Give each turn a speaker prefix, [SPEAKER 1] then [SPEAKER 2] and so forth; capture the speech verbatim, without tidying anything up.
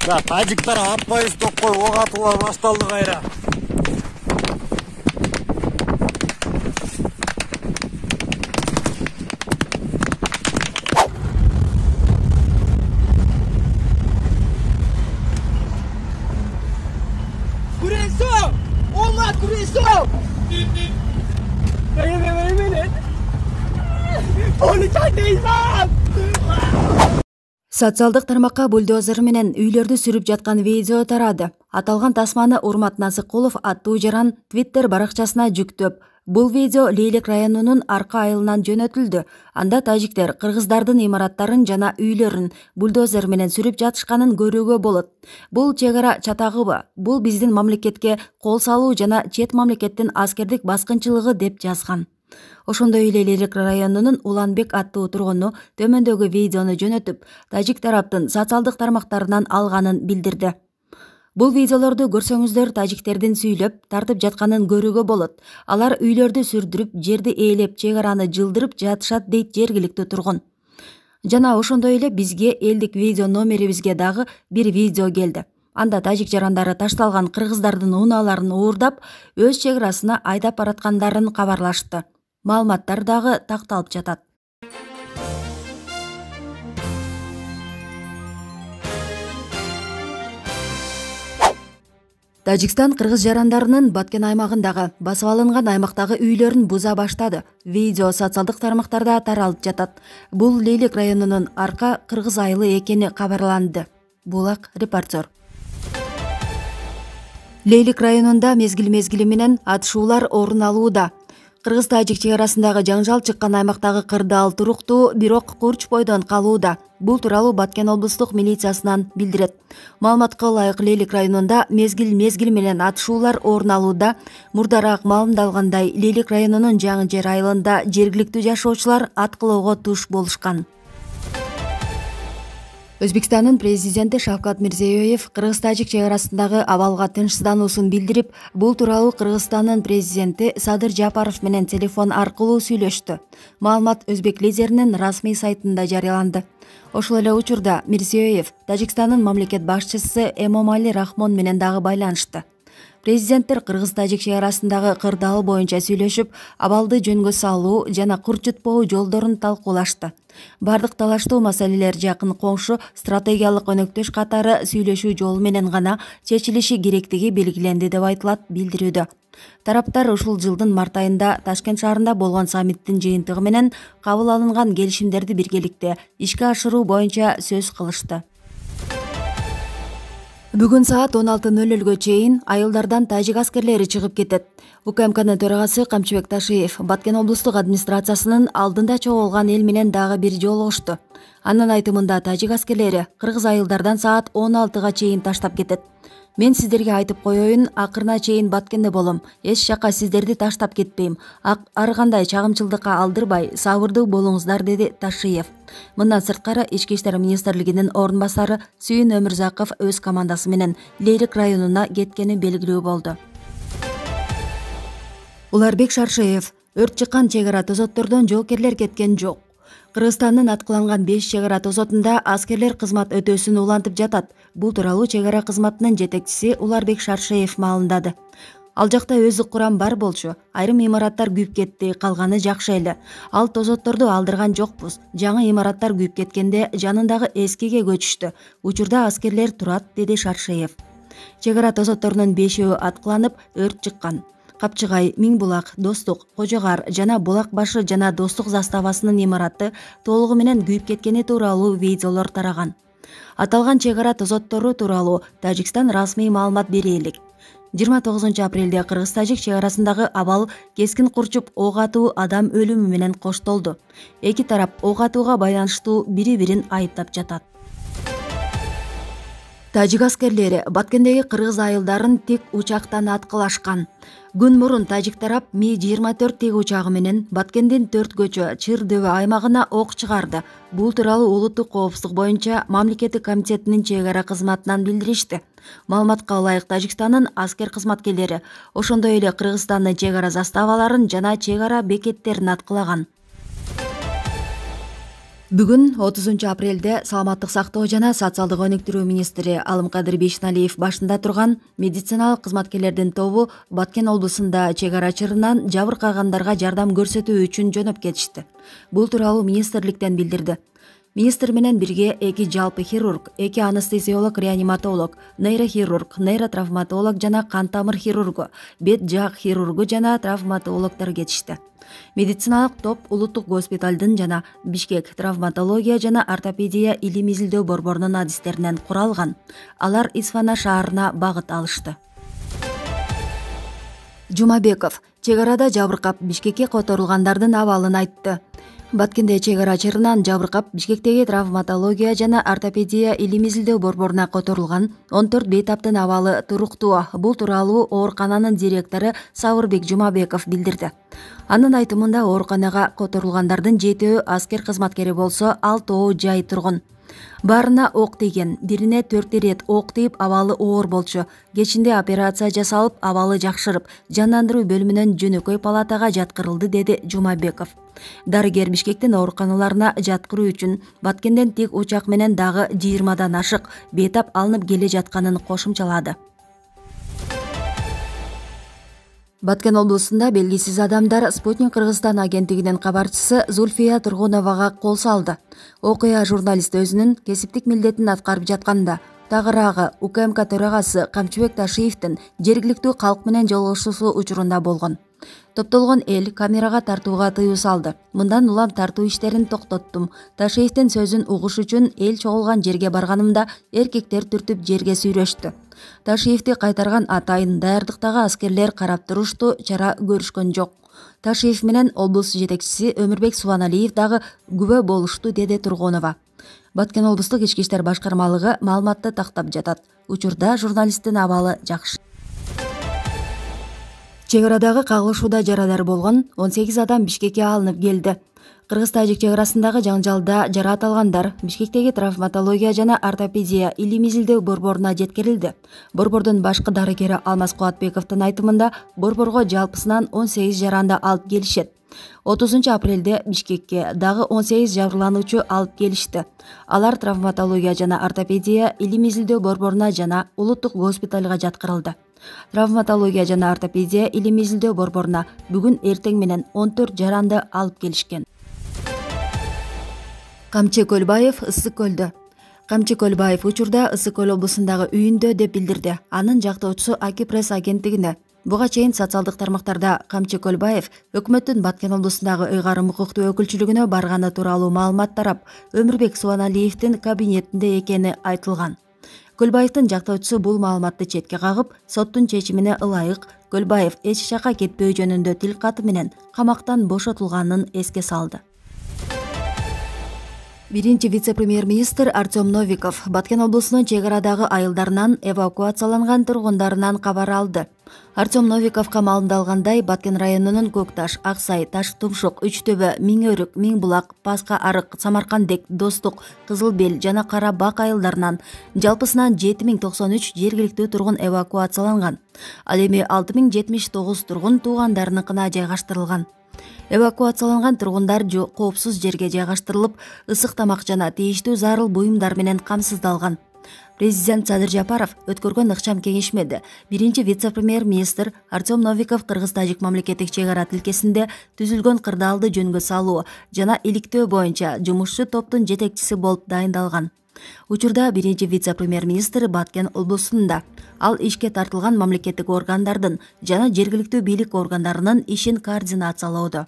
[SPEAKER 1] За тажиктар аппайыз токкой ок атуулар башталды кайра.
[SPEAKER 2] Күресо! Олар күресо! Бейме бейме. Полицай дейсам!
[SPEAKER 3] Социалдык тармакка бульдозер менен үйлөрдү сүрүп жаткан видео тарады. Аталган тасманы Урмат Насыкулов аттуу жаран Twitter баракчасына жүктөп, бул видео Лейлик районунун Арка айылынан жөнөтүлдү. Анда тажиктер кыргыздардын имараттарын жана үйлөрүн бульдозер менен сүрүп жатышканын көрүүгө болот. Бул чек ара чатагыбы? Бул биздин мамлекетке кол салуу жана чет мамлекеттин аскердик баскынчылыгы деп жазган. Ошондой эле Лейлик районунун Уланбек аттуу тургуну төмөндөгү видеону жөнөтүп, тажик тараптын социалдык тармактарынан алганын билдирди. Бул видеолорду көрсөңүздөр тажиктердин сүйлөп, тартып жатканын көрүүгө болот. Алар үйлөрдү сүрдүрүп, жерди ээлеп, чек араны жылдырып жатышат дейт жергиликтүү тургун. Жана ошондой эле бизге элдик видео номерибизге дагы бир видео келди. Анда тажик жарандары ташталган кыргыздардын унааларын уурдап, өз чек арасына айдап бараткандарын кабарлашты. Маалыматтар дагы такталып жатат. Тажикстан кыргыз жарандарынын Баткен аймагындагы басып алынган аймактагы үйлөрүн буза баштады. Видео социалдык тармактарда таралып жатат. Бул Лейлик районунун Арка кыргыз айылы экени кабарланды. Булак репортер. Лейлик районунда мезгил-мезгили менен атышуулар орун алууда. Кыргыз-тажик чек арасындагы жаңжал чыккан аймактагы кырдаал туруктуу, бирок курч бойдон калууда. Бул тууралуу Баткен облустук милициясынан билдирет. Маалыматка ылайык Лейлик районунда мезгил-мезгил менен атышуулар орун алууда. Мурдараак маалымдалгандай, Лейлик районунун Жаңы Жер айылында жергиликтүү жашоочулар аткылоого туш болушкан. Өзбекстандын президенти Шавкат Мирзиёев кыргыз-тажик чек арасындагы абалга тынчсыздануусун билдирип, бул тууралуу Кыргызстандын президенти Садыр Жапаров менен телефон аркылуу сүйлөштү. Маалымат өзбек лидеринин расмий сайтында жарыяланды. Ошол эле учурда Мирзиёев Тажикстандын мамлекет башчысы Эмомали Рахмон менен дагы байланышты. Президенттер кыргыз-тажик чек арасындагы кырдаал боюнча сүйлөшүп, абалды жөнгө салуу жана курчутпоо жолдорун талкуулашты. Бардык талаштуу маселелер жакын коңшу стратегиялык өнөктөш катары сүйлөшүү жолу менен гана чечилиши керектиги белгиленди деп айтылат билдирүүдө. Тараптар ушул жылдын март айында Ташкент шаарында болгон саммиттин жыйынтыгы менен кабыл алынган келишимдерди биргеликте ишке ашыруу боюнча сөз кылышты. Бүгүн саат он алты ноль нольго чейин айылдардан тажик аскерлери чыгып кетет. УКМКнын төрагасы Камчыбек Ташиев Баткен облустук администрациясынын алдында чогулган эл менен дагы бир жолугушту. Анын айтымында тажик аскерлери кыргыз айылдардан саат он алтыга чейин таштап кетет. Мен сиздерге айтып коеюн, акырына чейин Баткенде болом. Эч жака сиздерди таштап кетпейм. Ар кандай чагымчылдыкка алдырбай, сабырдуу болуңуздар, деди Ташиев. Мындан сырткары Ички иштер министрлигинин орун басары Сүйүн Өмүрзаков өз командасы менен Лейлик районуна кеткени белгилүү болду. Уларбек Шаршеев: өрт чыккан чек ара тозоттордон жоокерлер кеткен жок. Кыргызстандын аткыланган беш чек ара тозотунда аскерлер кызмат өтөөсүн улантып жатат. Бул тууралуу чек ара кызматынын жетекчиси Уларбек Шаршеев маалымдады. Ал жакта өздүк курам бар болчу. Айрым имараттар күйүп кетти, калганы жакшы эле. Ал тозотторду алдырган жокпуз. Жаңы имараттар күйүп кеткенде жанындагы эскиге көчүштү. Учурда аскерлер турат, деди Шаршеев. Чек ара тозотторунун бешөө аткыланып, өрт чыккан. Капчыгай, Миңбулак, Достук, Кожогар жана Булак башы жана Достук заставасынын имараты толугу менен күйүп кеткени тууралуу видеолор тараган. Аталган чек ара тозоттору тууралуу Тажикстан расмий маалымат бере элек. жыйырма тогузунчу апрелде кыргыз-тажик чек арасындагы абал кескин курчуп ок атуу адам өлүмү менен коштолду. Эки тарап ок атууга байланыштуу бири-бирин айыптап жатат. Тажик аскерлери Баткендеги кыргыз айылдарын тик учактан аткылашкан. Күн мурун тажик тарап Ми жыйырма төрт тик учагы менен Баткендин төрт көчө Чыр дөбө аймагына ок чыгарды. Бул тууралуу улуттук коопсуздук боюнча мамлекеттик комитетинин чек ара кызматынан билдиришти. Маалыматка ылайык Тажикстандын аскер кызматкерлери ошондой эле Кыргызстандын чек ара заставаларын жана чек ара бекеттерин аткылаган. Бүгүн отузунчу апрелде саламаттык сактоо жана социалдык өнүктүрүү министри Алымкадыр Бейшеналиев башында турган медициналык кызматкерлердин тобу Баткен облусунда чек ара чырынан жабыркагандарга жардам көрсөтүү үчүн жөнөп кетишти. Бул тууралуу министрликтен билдирди. Министр менен бирге эки жалпы хирург, эки анестезиолог, реаниматолог, нейрохирург, нейротравматолог жана кан тамыр хирургу, бет жаак хирургу жана травматологдор кетишти. Медициналык топ улуттук госпиталдын жана Бишкек травматология жана ортопедия илим изилдөө борборунун адистеринен куралган. Алар Исфана шаарына багыт алышты. Жумабеков чек арада жабыркап Бишкекке которулгандардын абалын айтты. Баткенде чек ара чырынан жабыркап Бишкектеги травматология жана ортопедия илим изилдөө борборуна которулган он төрт бейтаптын абалы туруктуу. Бул тууралуу оорукананын директору Сабырбек Жумабеков билдирди. Анын айтымында ооруканага которулгандардын жетөө аскер кызматкери болсо, алтоо жай тургун. Баарына ок тийген, бирине төрт ирет ок тийип абалы оор болчу. Кечинде операция жасалып, абалы жакшырып, жандандыруу бөлүмүнөн жөнөкөй палатага жаткырылды, деди Жумабеков. Дарыгер Бишкектин ооруканаларына жаткыруу үчүн Баткенден тик учак менен дагы жыйырмадан ашык бейтап алынып келе жатканын кошумчалады. Баткен облусунда белгисиз адамдар Спутник Кыргызстан агенттигинин кабарчысы Зульфия Тургуновага кол салды. Окуя журналист өзүнүн кесиптик милдетин аткарып жатканда тагыраагы УКМК төрагасы Камчыбек Ташиевдин жергиликтүү калк менен жолугушуусу учурунда болгон. Топтолгон эл камерага тартууга тыюу салды. Мындан улам тартуу иштерин токтоттум. Ташиевдин сөзүн угуш үчүн эл чогулган жерге барганымда эркектер түртүп жерге сүйрөштү. Ташиевди кайтарган атайын даярдыктагы аскерлер карап турушту, чара көрүшкөн жок. Ташиев менен облус жетекчиси Өмүрбек Субаналиев дагы күбө болушту, деди Тургунова. Баткен облустук ички иштер башкармалыгы маалыматты тактап жатат. Учурда журналисттин абалы жакшы. Чек арадагы кагылышууда жарадар болгон он сегиз адам Бишкекке алынып келди. Кыргыз-тажик чек арасындагы жаңжалда жараат алгандар Бишкектеги травматология жана ортопедия илим изилдөө борборуна жеткирилди. Борбордун башкы дарыгери Алмаз Кубатбековдун айтымында борборго жалпысынан он сегиз жаранды алып келишет. отузунчу апрелде Бишкекке дагы он сегиз жабырлануучу алып келишти. Алар травматология жана ортопедия илим изилдөө борборуна жана улуттук госпиталга жаткырылды. Травматология жана ортопедия илим изилдөө борборуна бүгүн эртең менен он төрт жаранды алып келишкен. Камчы Көлбаев Ысык көлдө. Камчы Көлбаев учурда Ысык көл облусундагы үйүндө деп билдирди. Анын жактоочусу Аки пресс агенттигине. Буга чейин социалдык тармактарда Камчы Көлбаев өкмөттүн Баткен облусундагы ыйгарым укуктуу өкүлчүлүгүнө барганы тууралуу маалымат тарап, Өмүрбек Субаналиевдин кабинетинде экени айтылган. Көлбаевдин жактоочусу бул маалыматты четке кагып, соттун чечимине ылайык Көлбаев эч жака кетпөө жөнүндө тил каты менен камактан бошотулганын эске салды. Биринчи вице-премьер-министр Артем Новиков Баткен облусунун чек арадагы айылдарынан эвакуацияланган тургундарынан кабар алды. Артем Новиковго маалымдалгандай, Баткен районунун Көкташ, Аксай, Таш Тумшук, Үчтөбө, Миңөрүк, Миңбулак, Паска Арык, Самаркандек, Достук, Кызыл Бел жана Кара Бак айылдарынан жалпысынан жети миң токсон үч жергиликтүү тургун эвакуацияланган. Ал эми алты миң жетимиш тогуз тургун туугандарыныкына жайгаштырылган. Эвакуацияланган тургундар коопсуз жерге жайгаштырылып, ысык тамак жана тийиштүү зарыл буюмдар менен камсыздалган. Президент Садыр Жапаров өткөргөн ыкчам кеңешмеде биринчи вице-премьер-министр Артем Новиков Кыргыз-тажик мамлекеттик чек ара тилкесинде түзүлгөн кырдаалды жөнгө салуу жана иликтөө боюнча жумушчу топтун жетекчиси болуп дайындалган. Учурда биринчи вице-премьер-министр Баткен облусунда. Ал ишке тартылган мамлекеттик органдардын жана жергиликтүү бийлик органдарынын ишин координациялоодо.